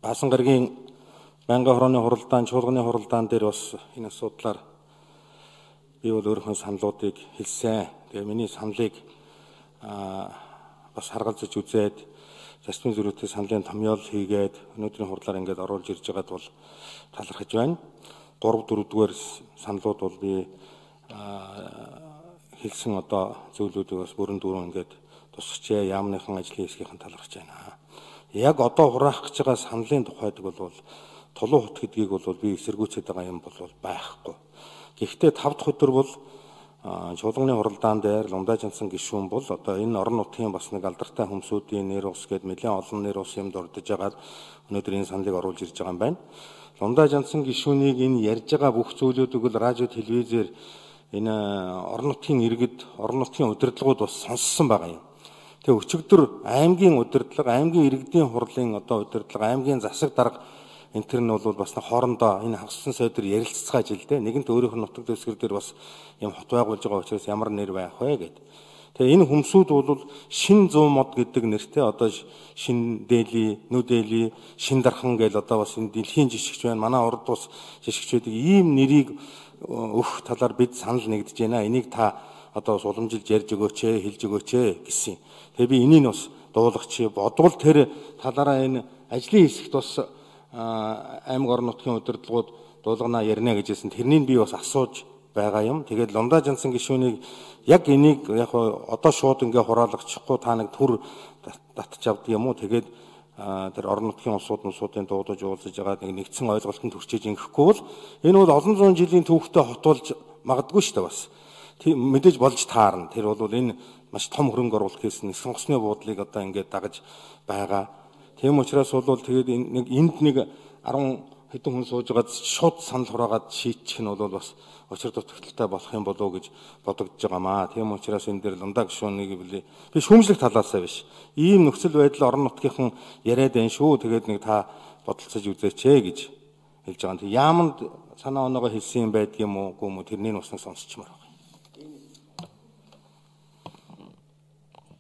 Баасан гарагийн байнгын хорооны хуралдаан, чуулганы хуралдаан дээр бас энэ асуудлаар би бол өөрийнхөө саналуудыг хэлсэн. Тэгээ миний саналыг бас харгалзаж үзээд зарчмын зөрүүтэй саналын томьёол хийгээд өнөөдрийн хурлаар ингээд оруулж ирж байгаад бол талархаж байна. 3-4-р саналууд бол би хэлсэн одоо зөвлөдүүдийг бас бүрэн дүүрэн ингээд тусгачээ яамныхан ажлын хэсгийнхэн талархаж байна. Яг одоо хураах гэж байгаа саналын тухайд бол тулуун хут гэдгийг бол би эсэргүүцээд байгаа юм бол байхгүй. Гэхдээ 5 дахь өдөр бол чуулганы хуралдаан дээр Лундажинсан гишүүн бол одоо энэ орон нутгийн бас нэг алдартай хүмсүүдийн нэр ус гээд нэлээд олон нэр ус юм дурдж байгаад өнөөдөр энэ саналыг оруулж ирж байгаа юм байна. Лундажинсан гишүүнийг энэ ярьж байгаа бүх зүйлүүдийг бол радио телевизээр энэ орон нутгийн иргэд, орон нутгийн удирдлагууд бас сонссон байгаа юм. Тэгээ өчигдөр аймгийн удирдлага, аймгийн иргэдийн хурлын одоо удирдлага, аймгийн засаг дарга энэ төр нь бол бас хоорондоо энэ хагассан сойдор ярилцгааж ил дээ. Нэгэнт өөрийнх нь нутаг дэвсгэр дээр бас юм хот байгуулж байгаа учраас ямар нэр байх вэ гэд. Тэгээ энэ хүмсүүд бол шин 100 мод гэдэг нэртэй одоо шин дээли, нүдээли, шин дархан гэл одоо бас энэ дэлхийн жишгч байна. Манай урд ус жишгчүүдийг ийм нэрийг өгөх талаар бид санал нэгдэж байна. Энийг та одоо бас уламжилж ярьж өгөөч, хэлж өгөөч гэсэн. Тэгээ би энийг бас дуулгач бодвол тэр талаараа энэ ажлын хэсэгт бас аймаг орон нутгийн удирдлагууд дуулганаа ярина гэжсэн. Тэрнийг би бас асууж байгаа юм. Тэгээд Лундажинсан гишүүнийг яг энийг яг одоо шууд ингээ хураалгачихгүй та нэг төр татж авдаг юм уу? Тэгээд тэр орон нутгийн улсуудын дуудаж уулзаж байгаа нэгдсэн ойлголтод хүрчээж ингэхгүй бол энэ бол олон зуун жилийн түүхтэй хотуулж магадгүй шүү дээ бас. Мэдээж болж таарна. Тэр бол энэ маш том хөрөнгө оруулалт хийсэн сонгосны буудлыг одоо ингээд дагаж байгаа. Тийм учраас бол тэгээд энд нэг 10 хэдэн хүн сууж байгаад шууд санал хураагаад шийдчих нь бол бас учир дутагдaltaй болох юм болов уу гэж бодогдож байгаамаа. Тийм учраас энэ дээр Лундаа гишүүнийг би шүүмжлэх талаасаа биш. Ийм нөхцөл байдал орон нутгийнхан яриад байна шүү. Тэгээд нэг та бодолцож үзээч гэж хэлж байгаа. Тэг яамд санаа оноогоо хэлсэн юм байдаг юм уу үгүй юм уу тэрнийг бас сонсчмаар байна.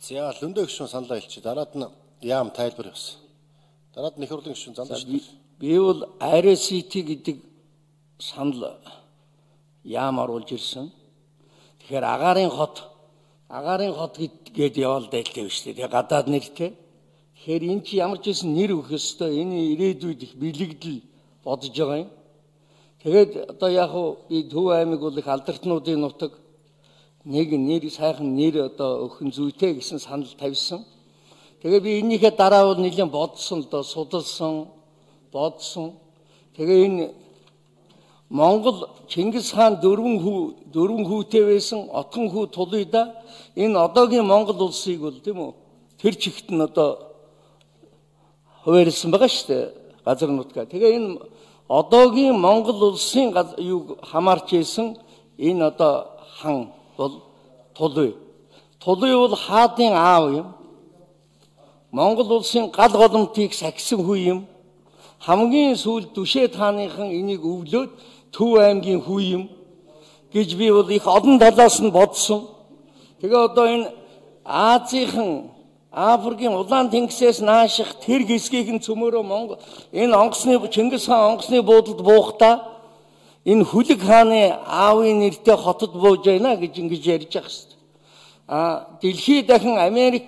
За Лундаа гишүүн саналаа хэлчих. Дараад нь яам тайлбар явсан. Дараад нь их хурлын гишүүн занлаа шүү. Би бол RCT гэдэг санал яам оруулж ирсэн. Тэгэхээр агаарын хот гэдгээд яваал дайлтай биш үү? Тэгээ гадаад нэртэй. Тэгэхээр эн чи ямар ч байсан нэр өгөх ёстой. Энэ ирээдүйд их бэлэгдэл бодож байгаа юм. Тэгээд одоо яг би Төв аймаг бол их алдартнуудын нутаг нэг нэр сайхан нэр одоо өгөх зүйтэй гэсэн санал тавьсан. Тэгээ би энийхээ дараа бол нэлээд бодсон л доо судалсан, бодсон. Тэгээ энэ Монгол Чингис хаан дөрвөн хүүтэй байсан, отгон хүү Тулуйда энэ одоогийн Монгол улсыг бол тийм үү тэр чигт нь одоо хуваарлсан байгаа шүү дээ газар нутгаа. Тэгээ энэ одоогийн Монгол улсын юг хамаарч исэн энэ одоо хан бол Тулуй. Тулуй бол хаадын аав юм. Монгол улсын гал голомтыг сахисан хүү юм. Хамгийн сүүлд Дүшээ тааныхан энийг өвлөөд Төв аймгийн хүү юм гэж би бол их олон талаас нь бодсон. Тэгээ одоо энэ Азийн Африкийн улаан тэнгисээс нааших тэр хэсгийг нь цөмөрөө Монгол энэ Чингис хаан онгоцны буудалд буухтаа энэ Хүлэг хааны аавын нэртэй хотод бууж байна гэж ингэж ярьж байгаа шүү дээ. Дэлхий дахин Америк,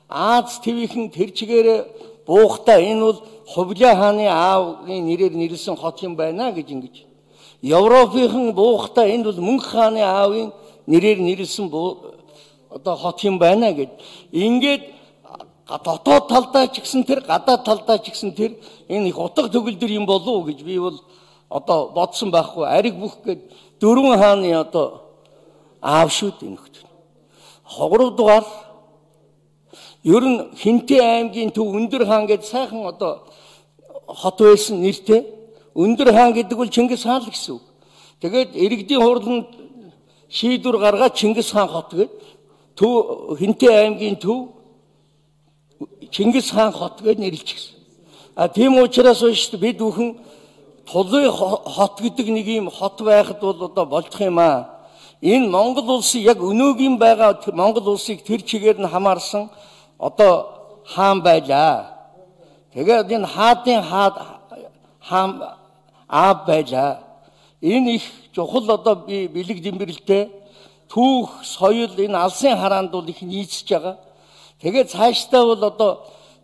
Аз твийнхэн тэр чигээрээ буухтаа энэ бол Хувлаа хааны аавын нэрээр нэрлсэн хот юм байна гэж ингэж. Европынхан буухтаа энэ бол Мөнх хааны аавын нэрээр нэрлсэн одоо хот юм байна гэж. Ингээд дотоод талдаа ч гэсэн тэр, гадаад талдаа ч гэсэн тэр энэ их утга төгөлдөр юм болов уу гэж би бол одоо бодсон байхгүй. Ариг бүх гээд 4 хааны одоо аав шүү дээ нөхдөд. 3 дугаар ер нь Хинтээ аймгийн Төв Өндөр хаан гэж сайхан одоо хот байсан нэртэй. Өндөр хаан гэдэг бол Чингис хаан л гэсэн үг. Тэгээд иргэдийн хурланд шийдвэр гаргаад Чингис хаан хот гээд Төв Хинтээ аймгийн Төв Чингис хаан хот гэж нэрлэчихсэн. Тийм учраас бид бүхэн Тулуй хот гэдэг нэг юм хот байхад бол одоо болчих юм аа. Энэ Монгол улсын яг өнөөгийн байгаа Монгол улсыг тэр чигээр нь хамаарсан одоо хаан байлаа. Тэгээд энэ хаадын хаам аав байлаа. Энэ их чухал одоо би бэлэг дэмбэрэлтэй түүх соёл энэ алсын хараанд бол их нийцж байгаа. Тэгээд цаашдаа бол одоо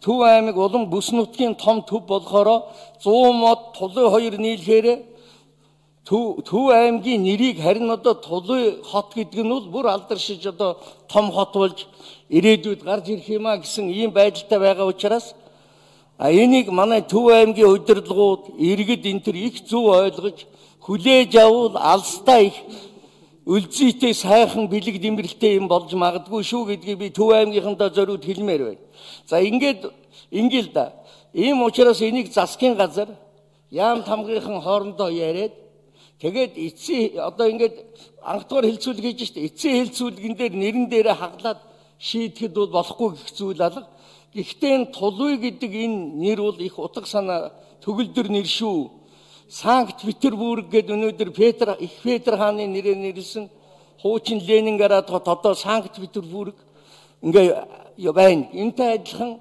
Төв аймаг улам бүс нутгийн том төв болохоор 100 мод Тулуй 2 нийлэхээр Төв аймгийн нэрийг харин одоо Тулуй хот гэдэг нь бол бүр алдаршиж одоо том хот болж ирээдүйд гарч ирэх юм а гэсэн ийм байдалтай байгаа учраас энийг манай Төв аймгийн удирдлагууд иргэд энэ төр их зөв ойлгож хүлээж авал алстаа их үлзийтэй сайхан бэлэг дэмбэрэлтэй юм болж магадгүй шүү гэдгийг би Төв аймгийнхандаа зориуд хэлмээр байна. За ингээл да. Ийм учраас энийг засгийн газар яам тамгийнхын хоорондоо яриад тэгээд эцсийн одоо ингээд анхдугаар хэлцүүлэг хийж штэ. Эцсийн хэлцүүлгэн дээр нэрэн дээрээ хаглаад шийдэхэд бол болохгүй гэх зүйл алга. Гэхдээ энэ Тулуй гэдэг энэ нэр бол их утга санаа төгөлдөр нэр шүү. Санкт Петербург гэдэг өнөөдөр их Петр хааны нэрээр нэрлсэн хуучин Ленинград хот одоо Санкт Петербург ингээ байна. Энтэй адилхан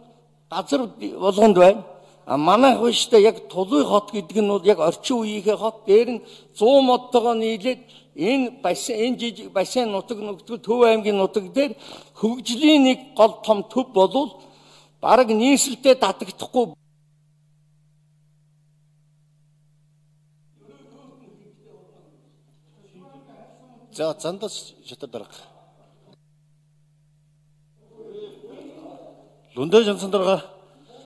газар болгонд байна. Манайх биштэй яг Тулуй хот гэдэг нь бол яг орчин үеийнхээ хот. Дээр нь 100 модтойгоо нийлээд энэ жижиг бассейн нутаг нөхдөг Төв аймгийн нутаг дээр хөгжлийн нэг гол том төв болвол бараг нийслэлтэй татагдахгүй. За зандас шатар дарга. Лундай Жансан дарга.